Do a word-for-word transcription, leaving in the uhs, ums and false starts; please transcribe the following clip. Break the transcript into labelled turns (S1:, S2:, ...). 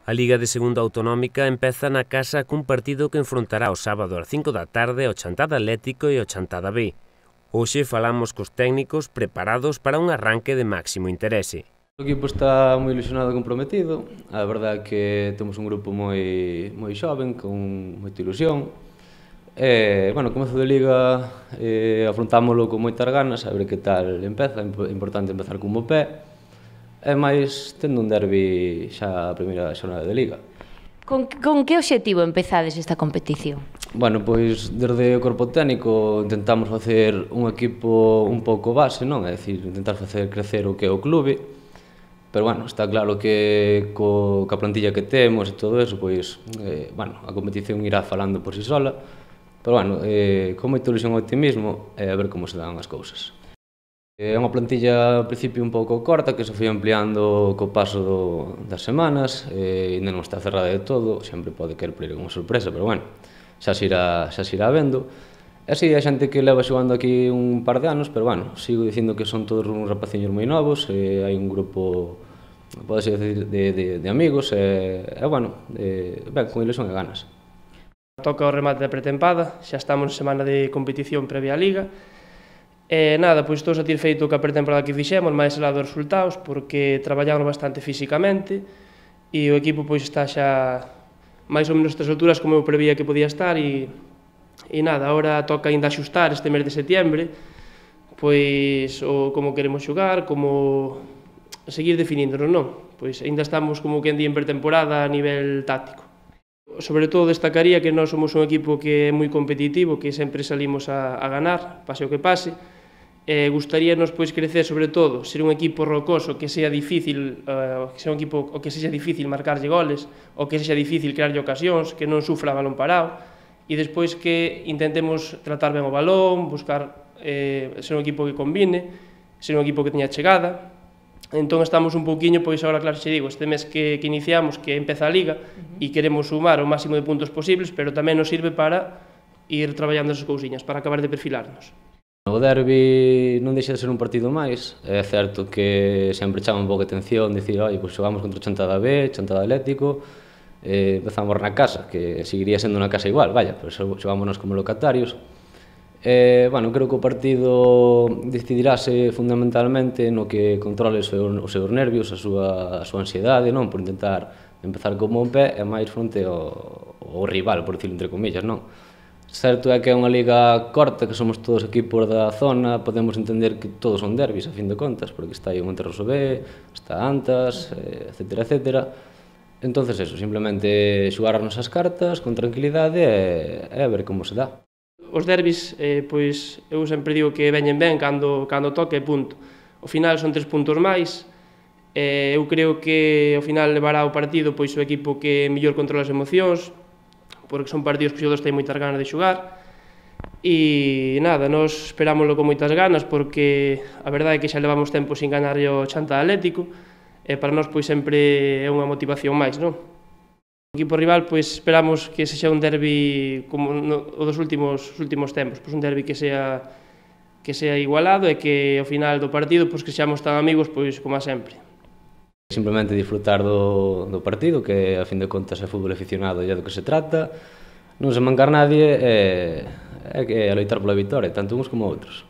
S1: A Liga de Segunda Autonómica empeza na casa cun partido que enfrontará o sábado ás cinco da tarde ao Chantada Atlético e ao Chantada B. Hoxe falamos cos técnicos preparados para un arranque de máximo interese.
S2: O equipo está moi ilusionado e comprometido. A verdade é que temos un grupo moi, moi xoven, con moita ilusión. E, bueno, comezo de Liga eh, afrontámoslo con moitas ganas, a ver que tal empeza. É importante empezar con bo pé. E máis tendo un derbi xa a primeira xornada de Liga.
S3: Con, con que obxectivo empezades esta competición?
S2: Bueno, pois desde o corpo técnico intentamos facer un equipo un pouco base, non? É dicir, intentar facer crecer o que é o clube. Pero, bueno, está claro que co, ca plantilla que temos e todo eso, pois, eh, bueno, a competición irá falando por si sola. Pero, bueno, eh, con moita ilusión e optimismo, e a ver como se dan as cousas. É unha plantilla, ao principio, un pouco corta, que se foi ampliando co paso do, das semanas, e ainda non está cerrada de todo, sempre pode querer por ir unha sorpresa, pero, bueno, xa se irá, xa se irá vendo. E si, hai xente que leva xogando aquí un par de anos, pero, bueno, sigo dicindo que son todos uns rapaciños moi novos, e hai un grupo, pode ser de, de, de amigos, e, e bueno, e, ben, con ilusión e ganas.
S4: Toca o remate da pretempada, xa estamos en semana de competición previa á Liga. E nada, pois estou satisfeito coa pretemporada que fixemos, máis alá dos resultados, porque traballamos bastante físicamente e o equipo pois está xa máis ou menos estas alturas como eu prevía que podía estar e, e nada, agora toca ainda axustar este mes de setiembre pois o como queremos xogar, como seguir definíndonos, non? Pois ainda estamos como que en día en pretemporada a nivel táctico. Sobre todo destacaría que nós somos un equipo que é moi competitivo, que sempre salimos a, a ganar, pase o que pase. Eh, gustaríanos pois crecer sobre todo, ser un equipo rocoso que sea difícil, uh, que sea un equipo o que sexa difícil marcarlle goles, ou que sexa difícil crearlle ocasións, que non sufra balón parado, e despois que intentemos tratar ben o balón, buscar eh, ser un equipo que combine, ser un equipo que teña chegada. Entón estamos un pouquiño, pois agora claro xe digo, este mes que, que iniciamos, que empeza a Liga, uh-huh. e queremos sumar o máximo de puntos posibles, pero tamén nos sirve para ir traballando esas cousiñas, para acabar de perfilarnos.
S2: O derbi non deixa de ser un partido máis, é certo que sempre chama un pouco de atención dicir, oi, pois xogamos contra o Chantada B, Chantada Atlético, eh, empezamos na casa, que seguiría sendo unha casa igual, vaya, pero xogámonos como locatarios. Eh, bueno, creo que o partido decidirase fundamentalmente no que controle os seus, os seus nervios, a súa, a súa ansiedade, non? Por intentar empezar con bon pé e máis fronte ao, ao rival, por dicirlo entre comillas, non? Certo é que é unha liga corta, que somos todos equipos da zona, podemos entender que todos son derbis, a fin de contas, porque está aí o Monterroso B, está Antas, etcétera, etcétera. Entonces, eso, simplemente xogar as nosas cartas con tranquilidade e, e a ver como se dá.
S4: Os derbis, eh, pois, eu sempre digo que veñen ben cando, cando toque, punto. Ao final son tres puntos máis, eh, eu creo que ao final levará o partido pois o equipo que mellor controla as emocións, porque son partidos que os xogadores teñen moitas ganas de xogar, e nada, nos esperámoslo con moitas ganas, porque a verdade é que xa levamos tempo sin ganar o Chantada Atlético, e para nós pois sempre é unha motivación máis, non? O equipo rival, pois esperamos que sexa un derbi como no, o dos últimos, últimos tempos, pois un derbi que sea que sea igualado e que ao final do partido pois que seamos tan amigos pois como a sempre.
S2: Simplemente disfrutar do, do partido, que a fin de contas é fútbol aficionado e é do que se trata, non se mancar nadie e, e, e loitar pola vitória, tanto uns como outros.